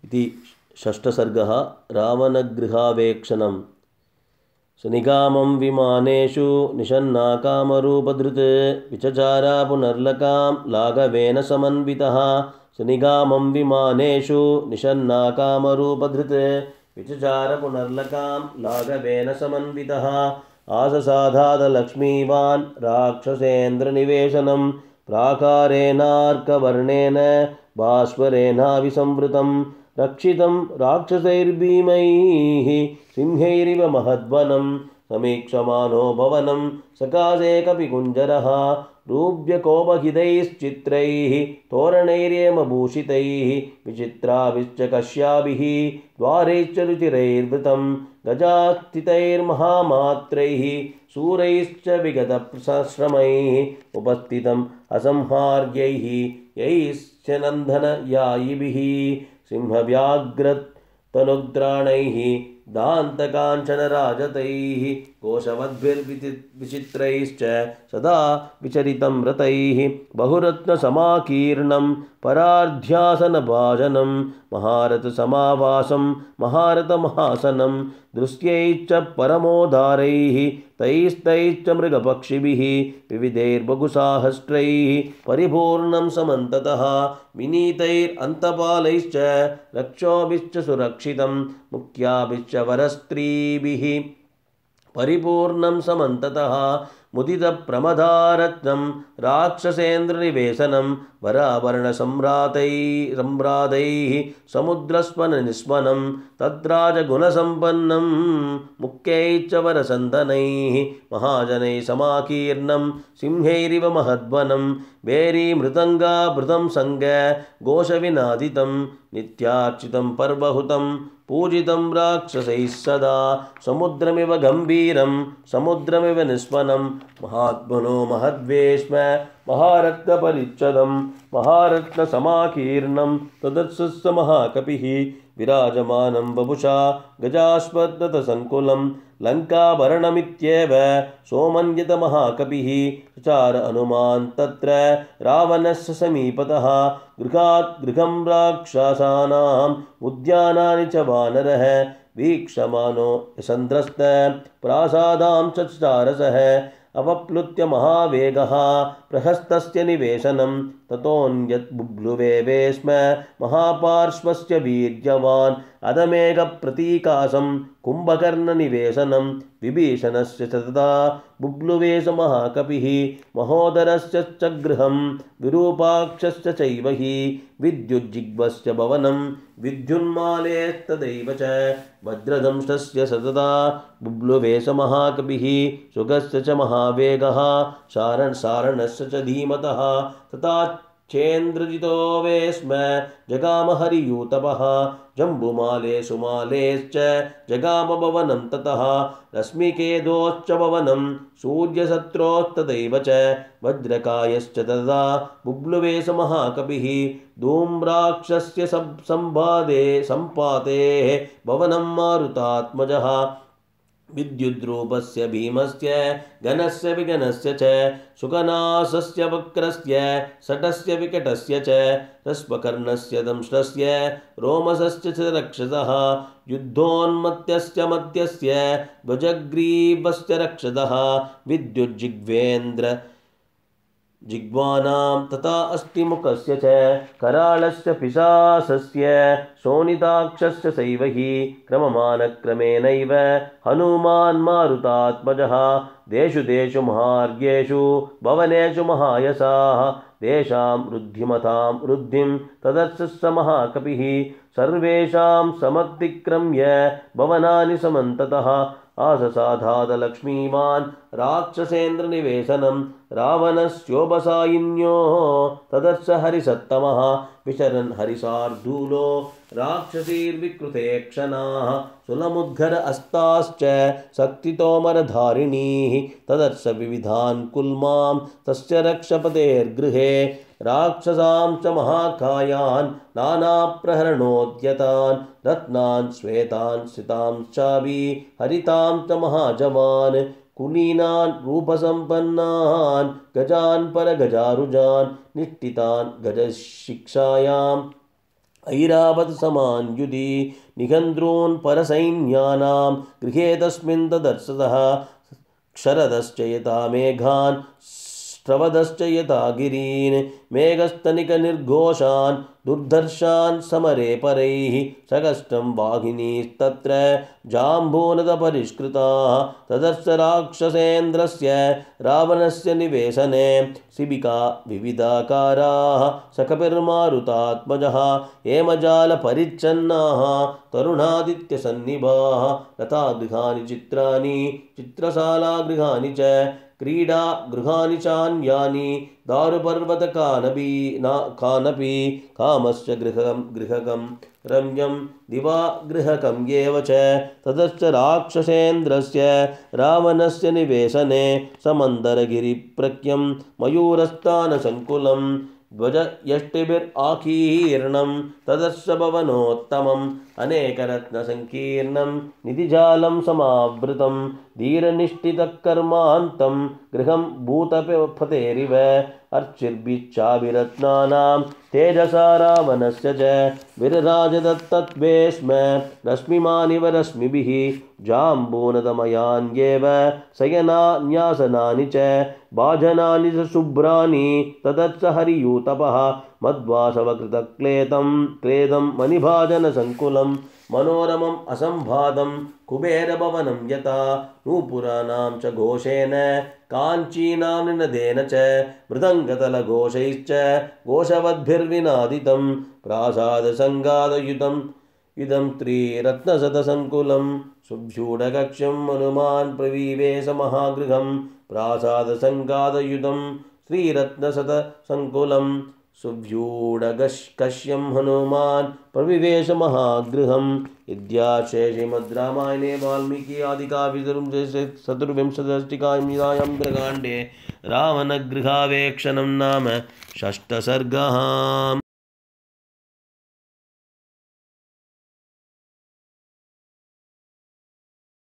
इति षष्ठसर्गः। रावणगृहावेक्षणम्। सुनिगामं विमानेषु निषन्नाकामरूपधृत् विचचारा पुनर्लकां लाघवेन समन्वितः। सुनिगामं विमानेषु निषन्नाकामरूपधृत् विचचार पुनर्लकां लाघवेन समन्वितः। आससाधादलक्ष्मीवान् राक्षसेन्द्रनिवेशनं प्राकारेणार्कवर्णेन भास्वरेणाभिसंवृतं रक्षितं राक्षसैर्भीमैः सिंहैरिव महद्वनं समीक्षमानो भवनं सकाशे कपिकुञ्जरः रूप्यकोपहितैश्चित्रैः तोरणैर्येमभूषितैः विचित्राभिश्च कश्याभिः द्वारैश्च रुचिरैर्वृतं गजास्थितैर्महामात्रैः शूरैश्च विगतश्रमैः उपस्थितम् असंहार्यैः यैश्च नन्दनयायिभिः सिंहव्याघ्रतनुग्राणैः दान्तकाञ्चनराजतैः कोशवद्भिर्विचित्रैश्च सदा विचरितं रतैः बहुरत्नसमाकीर्णं परार्ध्यासनभाजनं महारथसमावासं महारथमहासनं दृश्यैश्च परमोदारैः तैस्तैश्च मृगपक्षिभिः विविधैर्बहुसाहस्रैः परिपूर्णं समन्ततः विनीतैरन्तपालैश्च रक्षोभिश्च सुरक्षितं मुख्याभिश्च वरस्त्रीभिः परिपूर्णं समन्ततः मुदितप्रमदारत्नं राक्षसेन्द्रनिवेशनं वराभरणसम्रादैः समुद्रस्वननिस्वनं तद्राजगुणसम्पन्नं मुख्यैश्च वरसन्दनैः महाजनैः समाकीर्णं सिंहैरिव महद्वनं भेरीमृदङ्गाभृतं सङ्ग घोषविनादितं नित्यार्चितं पर्वहुतं पूजितं राक्षसैः सदा समुद्रमिव गम्भीरं समुद्रमिव निस्वनं महात्मनो महद्वेश्म महारत्नपरिच्छदं महारत्नसमाकीर्णं तदत्सुस्स महाकपिः विराजमानं वपुषा गजाश्वत्थसङ्कुलं लङ्काभरणमित्येव सोमन्यतमहाकपिः चचार हनुमान् तत्र रावणस्य समीपतः गृहात् गृहं राक्षसानाम् उद्यानानि च वानरः वीक्षमानो यशन्द्रस्त प्रासादां चचारसः अवप्लुत्य महावेगः प्रहस्तस्य निवेशनं ततोऽन्यत् बुभ्लुवे स्म महापार्श्वस्य वीर्यवान् अदमेघप्रतीकासं कुम्भकर्णनिवेशनं विभीषणस्य तदा बुभ्लुवे स महाकपिः महोदरस्य च गृहं विरूपाक्षस्य चैव हि विद्युज्जिह्वस्य भवनं विद्युन्मालेस्तदैव च वज्रदंष्टस्य सतता बुभ्लुवे स महाकपिः सुगस्य च महावेगः सारणस्य च धीमतः तथा चेन्द्रजितो वे स्म जगाम हरियूतपः जम्बुमाले सुमालेश्च जगाम भवनं ततः रश्मिकेदोश्च भवनं सूर्यसत्रोस्तदैव च वज्रकायश्च तदा बुभ्लुवे स महाकपिः धूम्राक्षस्य सम्पातेः भवनं मारुतात्मजः विद्युद्रूपस्य भीमस्य गणस्य विगणस्य च सुगनासस्य वक्रस्य शटस्य विकटस्य च रश्मकर्णस्य दंष्ट्रस्य रोमसस्य च रक्षसः युद्धोन्मत्तस्य मत्यस्य ध्वजग्रीवस्य रक्षसः विद्युज्जिह्वेन्द्र जिह्वानां तथा अस्थिमुखस्य च कराळस्य पिशासस्य शोणिताक्षस्य सैव हि क्रममानक्रमेणैव हनुमान् मारुतात्मजः देषु देषु महार्घ्येषु भवनेषु महायसाः तेषां वृद्धिमतां वृद्धिं तदत्स महाकपिः सर्वेषां समतिक्रम्य भवनानि समन्ततः आससाधादलक्ष्मीवान् राक्षसेन्द्रनिवेशनं रावणस्योपसायिन्योः तदर्श हरिसत्तमः विचरन् हरिशार्दूलो राक्षसीर्विकृतेक्षणाः सुलमुद्गर अस्ताश्च शक्तितोमरधारिणीः तदर्श विविधान् कुल्मां तस्य रक्षपतेर्गृहे राक्षसां च महाकायान् नानाप्रहरणोद्यतान् रत्नान् श्वेतान् सितांश्चाभि हरितां च महाजवान् कुलीनान् रूपसम्पन्नान् गजान् परगजारुजान् निष्ठितान् गजशिक्षायां ऐरावत समान युधि निगन्ध्रोन् परसैन्यानां गृहे तस्मिन् तदर्शतः क्षरदश्च यथा मेघान् स्रवदश्च यथा गिरीन् मेघस्तनिकनिर्घोषान् दुर्धर्षान् समरे परैः सकष्टं वाहिनीस्तत्र जाम्बूनदपरिष्कृताः तदर्श राक्षसेन्द्रस्य रावणस्य निवेशने शिबिका विविधाकाराः सकपिर्मारुतात्मजः हेमजालपरिच्छन्नाः तरुणादित्यसन्निभाः लतागृहाणि चित्राणि चित्रशालागृहाणि च क्रीडागृहाणि चान्यानि दारुपर्वतकानपि कामस्य गृहकं रम्यं दिवा गृहकं एव च ततश्च राक्षसेन्द्रस्य रावणस्य निवेशने समन्दरगिरिप्रख्यं मयूरस्थानसङ्कुलं ध्वजयष्टिभिराकीर्णं तदर्श भवनोत्तमम् अनेकरत्नसङ्कीर्णं निधिजालं समावृतं धीरनिष्ठितकर्मान्तं गृहं भूतपतेरिव अर्चिर्भिश्चाभिरत्नानां तेजसा रावणस्य च विरराजदत्तत्वे स्म रश्मिमानिव रश्मिभिः जाम्बूनदमयान्येव शयनान्यासनानि च भाजनानि च शुभ्राणि ततश्च हरियूतपः मध्वासवकृतक्लेदं मणिभाजनसङ्कुलं मनोरमम् असम्भादं कुबेरभवनं यथा नूपुराणां च घोषेण काञ्चीनां निनदेन च मृदङ्गतलघोषैश्च घोषवद्भिर्विनादितं प्रासादसङ्गादयुतं इदं त्रिरत्नशतसङ्कुलं शुभ्यूढकक्षं हनुमान् प्रविवेश महागृहं प्रासादसङ्गादयुतं श्रीरत्नशतसङ्कुलं शुभ्यूढकश्यं हनुमान् प्रविवेश महागृहम् इत्यार्षे श्रीमद् रामायणे वाल्मीकि आदिकाव्ये चतुर्विंशतिकायां काण्डे रावणगृहावेक्षणं नाम षष्ठः सर्गः।